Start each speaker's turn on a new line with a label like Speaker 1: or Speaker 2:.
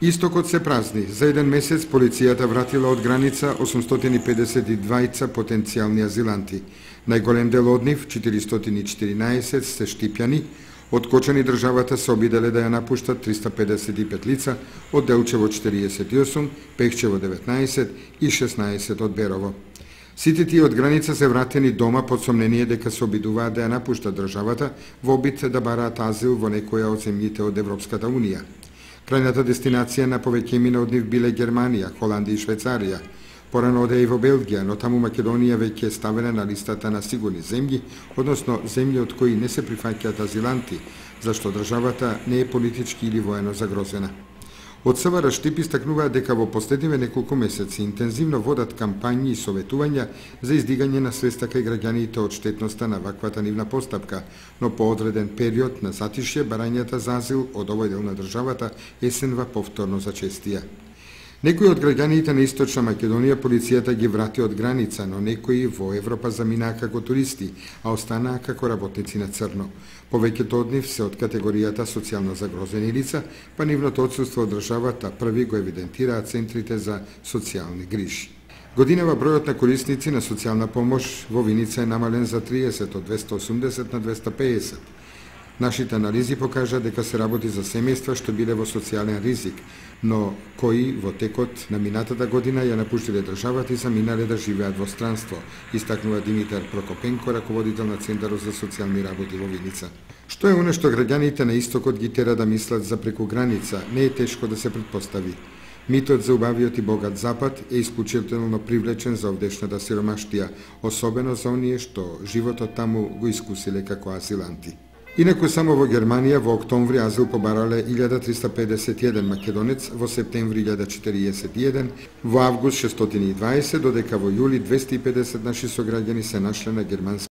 Speaker 1: Истокот се празни. За еден месец полицијата вратила од граница 852 потенцијални азиланти. Најголем дел од нив, 414, се штипјани. Откочени државата се обиделе да ја напуштат 355 лица, од Делчево 48, Пехчево 19 и 16 од Берово. Сите тие од граница се вратени дома под сомнение дека се обидуваат да ја напуштат државата во обид да бараат азил во некоја од земјите од Европската Унија. Крајната дестинација на повеќемина од нив биле Германија, Холандија и Швајцарија. Порано оде и во Белгија, но таму Македонија веќе е ставена на листата на сигурни земји, односно земји од кои не се прифаќаат азиланти, зашто државата не е политички или воено загрозена. Од СВР Штип истакнуваат дека во последниве неколку месеци интензивно водат кампањи и советувања за издигање на свеста кај граѓаните од штетноста на ваквата нивна постапка, но по одреден период на затишје барањата за азил од овој дел на државата есенва повторно зачестија. Некои од граѓаните на Источна Македонија полицијата ги врати од граница, но некои во Европа заминаа како туристи, а останаа како работници на црно. Повеќето од нив се од категоријата социјално загрозени лица, па нивното отсуство од државата први го евидентираат центрите за социјални грижи. Годинава бројот на корисници на социјална помош во Виница е намален за 30 од 280 на 250. Нашите анализи покажа дека се работи за семејства што биле во социјален ризик, но кои во текот на минатата година ја напуштиле државата и заминале да живеат во странство, истакнува Димитар Прокопенко, раководител на Центарот за социјални работи во Виница. Што е оно што граѓаните на истокот ги тера да мислат за преку граница, не е тешко да се претпостави. Митот за убавиот и богат Запад е исклучително привлечен за овдешната сиромаштија, особено за оние што животот таму го искусиле како азиланти. Инаку само во Германија во октомври азил побарале 1351 македонец, во септември 1041, во август 620, додека во јули 250 наши сограѓани се нашле на германски